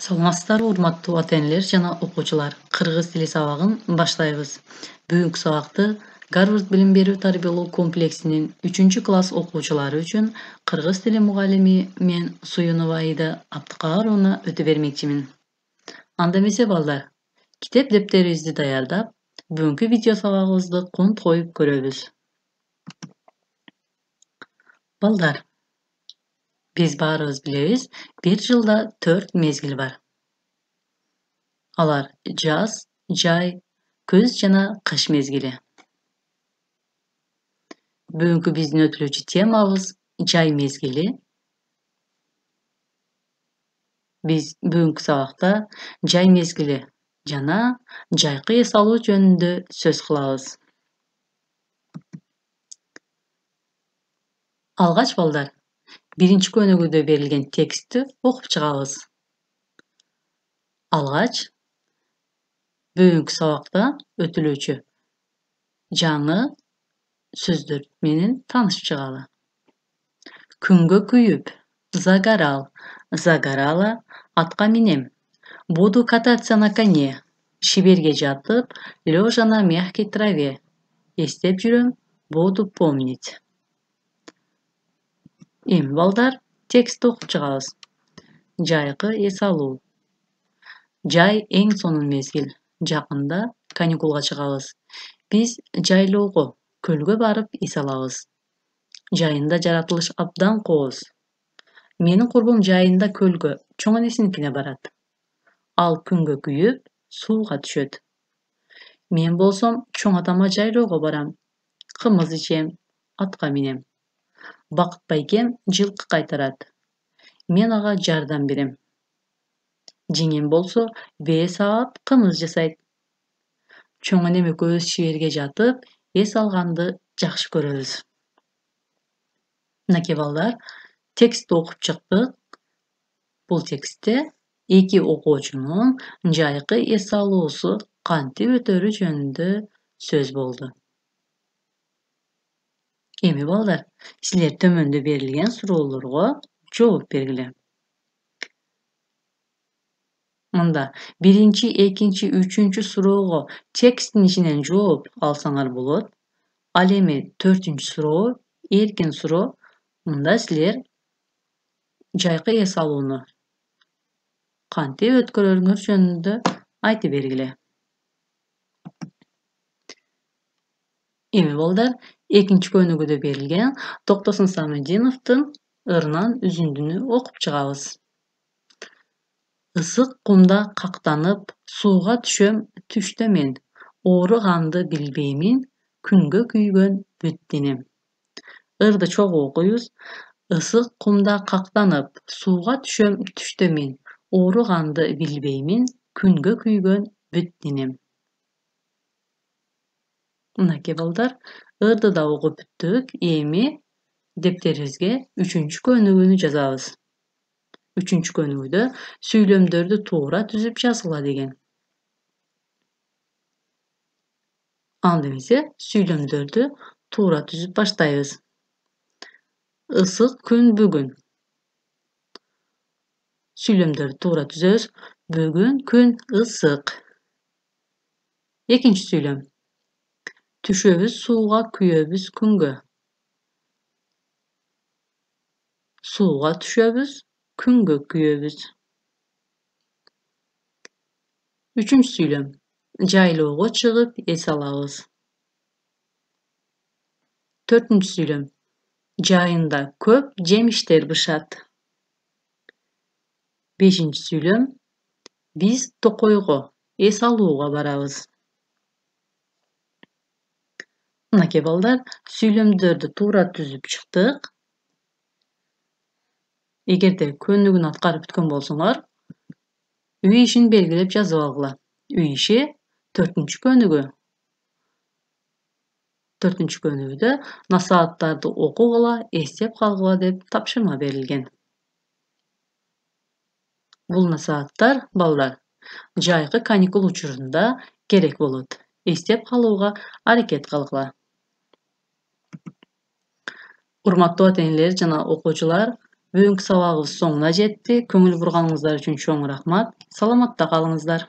Саламатсыздарбы, урматтуу ата-энелер жана окуучулар. Кыргыз тили сабагын баштайбыз. Бүгүнкү сабакты Гарвард билим берүү тарбиялоо комплексинин 3-класс окуучулары үчүн кыргыз тили мугалими мен Суюнова Аида Абдыкааровна өтө бермекчимин. Анда эмесе балдар, китеп дептерибизди даярдап, бүгүнкү видео сабагыбызды конт коюп көрөбүз. Балдар, биз баарыбыз билебиз, бир жылда 4 мезгил бар. Алар жаз, жай, көз жана кыш мезгили. Бүгүнкү биздин өтүлүүчү темабыз жай мезгили. Биз бүгүнкү сабакта жай мезгили жана жайкы эс алуу жөнүндө сөз кылабыз. Алгач балдар, биринчи көнүгүүдө берилген текстти окуп чыгабыз. Алгач, бүгүнкү сабакта өтүлүүчү жаңы сөздөр менен таанышып чыгалы. Күнгө күйүп, загорал, загорала, атка минем. Буду кататься на коне. Шиберге жатып, лежа на мягкой траве. Эстеп жүрөм, буду помнить. Эми балдар, текстти окуп чыгабыз. Жайкы эс алуу. Жай эң сонун мезгил. Жакында каникулга чыгабыз. Биз жайлоого, көлгө барып эс алабыз. Жайында жаратылыш абдан кооз. Менин курбум жайында көлгө, чоң энесиникине барат. Ал күнгө күйүп, сууга түшөт. Мен болсом чоң атама жайлоого барам. Кымыз ичем, атка минем. Бакыт байкем жылкы кайтарат. Мен ага жардам берем. Жеңем болсо бээ саап кымыз жасайт. Чоң энем экөөбүз шиберге жатып, эс алганды жакшы көрөбүз. Мынакей балдар, текстти окуп чыктык. Бул текстте эки окуучунун жайкы эс алуусу кантип өтөрү жөнүндө сөз болду. Эми балдар, силер төмөндө берилген суроолорго жооп бергиле. Мында биринчи, экинчи, үчүнчү суроого тексттин ичинен жооп алсаңар болот. Ал эми 4-чү суроо, эркин суроо. Мында силер жайкы эс алууну кантип өткөрөрүңөр жөнүндө айтып бергиле. Эми балдар, экинчи көнүгүүдө берилген Токтосун Самединовдун Ырынан үзүндүнү окуп чыгабыз. Ысык кумда кактанып, сууга түшөм түштө мен. Ооруганды билбеймин, күнгө күйгөн бүт денем. Ырды чогуу окуйбуз. Ысык кумда кактанып, сууга түшөм түштө мен. Ооруганды билбеймин, күнгө күйгөн бүт денем. Мынакей балдар, ырды да окуп бүттүк. Эми дептерибизге 3-чү көнүгүүнү жазабыз. 3-чү көнүгүүдө сүйлөмдөрдү туура түзүп жазгыла деген. Анда эмесе сүйлөмдөрдү туура түзүп баштайбыз. Ысык күн бүгүн. Сүйлөмдөрдү туура түзөбүз. Бүгүн күн ысык. Экинчи сүйлөм. Түшөбүз сууга, күйөбүз күнгө. Сууга түшөбүз, күнгө күйөбүз. Үчүнчү сүйлөм. Жайлоого чыгып эс алабыз. 4-чү сүйлөм. Жайында көп жемиштер бышат. 5-чү сүйлөм. Биз токойго эс алууга барабыз. Мынакей балдар, сүйлөмдөрдү туура түзүп чыктык. Эгерде көнүгүүнү аткарып бүткөн болсоңор, үй ишин белгилеп жазып алгыла. Үй иши 4-чү көнүгүү. 4-чү көнүгүүдө насааттарды окугула, эстеп калгыла деп тапшырма берилген. Бул насааттар балдар жайкы каникул учурунда керек болот. Эстеп калууга аракет кылгыла. Урматтуу ата-энелер жана окуучулар, Бүгүнкү сабагыбыз соңуна жетти. Көңүл бурганыңыздар үчүн чоң рахмат. Саламатта калыңыздар.